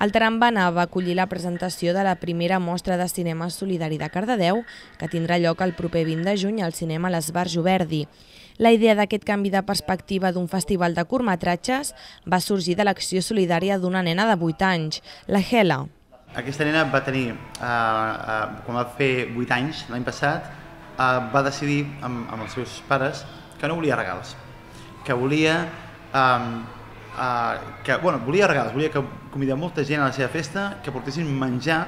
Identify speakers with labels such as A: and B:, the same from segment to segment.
A: El Tarambana va acollir la presentació de la primera mostra de cinema solidari de Cardedeu, que tindrà lloc el proper 20 de juny al cinema l'Esbarjo Verdi. La idea d'aquest canvi de perspectiva d'un festival de curtmetratges va sorgir de l'acció solidària d'una nena de 8 anys, la Hela.
B: Aquesta nena va tenir, quan va fer 8 anys, l'any passat, va decidir amb els seus pares que no volia regals, que volia regals, volia que convidar molta gent a la seva festa, que portessin menjar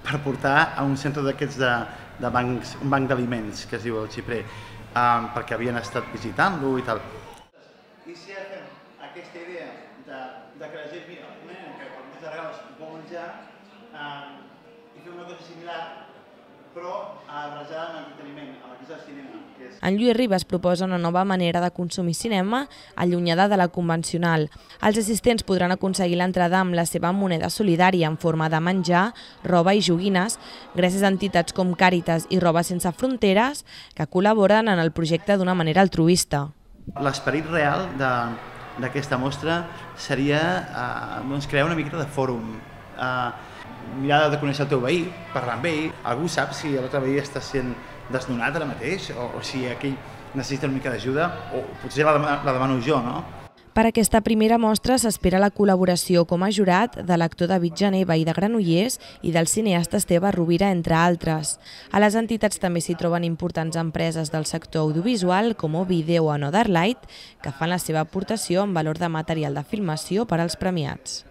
B: per portar a un centre d'aquests de bancs, un banc d'aliments, que es diu el Xiprer, perquè havien estat visitant-lo i tal. I si ara fem aquesta idea de que la gent mira una nena que per molts regals vol menjar i fer una cosa similar, però barrejada amb entreteniment, amb el que és el cinema.
A: En Lluís Ribas proposa una nova manera de consumir cinema allunyada de la convencional. Els assistents podran aconseguir l'entrada amb la seva moneda solidària en forma de menjar, roba i joguines, gràcies a entitats com Càritas i Roba Sense Fronteres, que col·laboren en el projecte d'una manera altruista.
B: L'esperit real d'aquesta mostra seria crear una miqueta de fòrum, mirar de conèixer el teu veí, parlar amb ell, algú sap si l'altre veí està sent desnonat ara mateix o si aquell necessita una mica d'ajuda o potser la demano jo, no?
A: Per aquesta primera mostra s'espera la col·laboració com a jurat de l'actor David Jané, veí de Granollers, i del cineasta Esteve Rovira, entre altres. A les entitats també s'hi troben importants empreses del sector audiovisual com Ovideo o Another Light, que fan la seva aportació en valor de material de filmació per als premiats.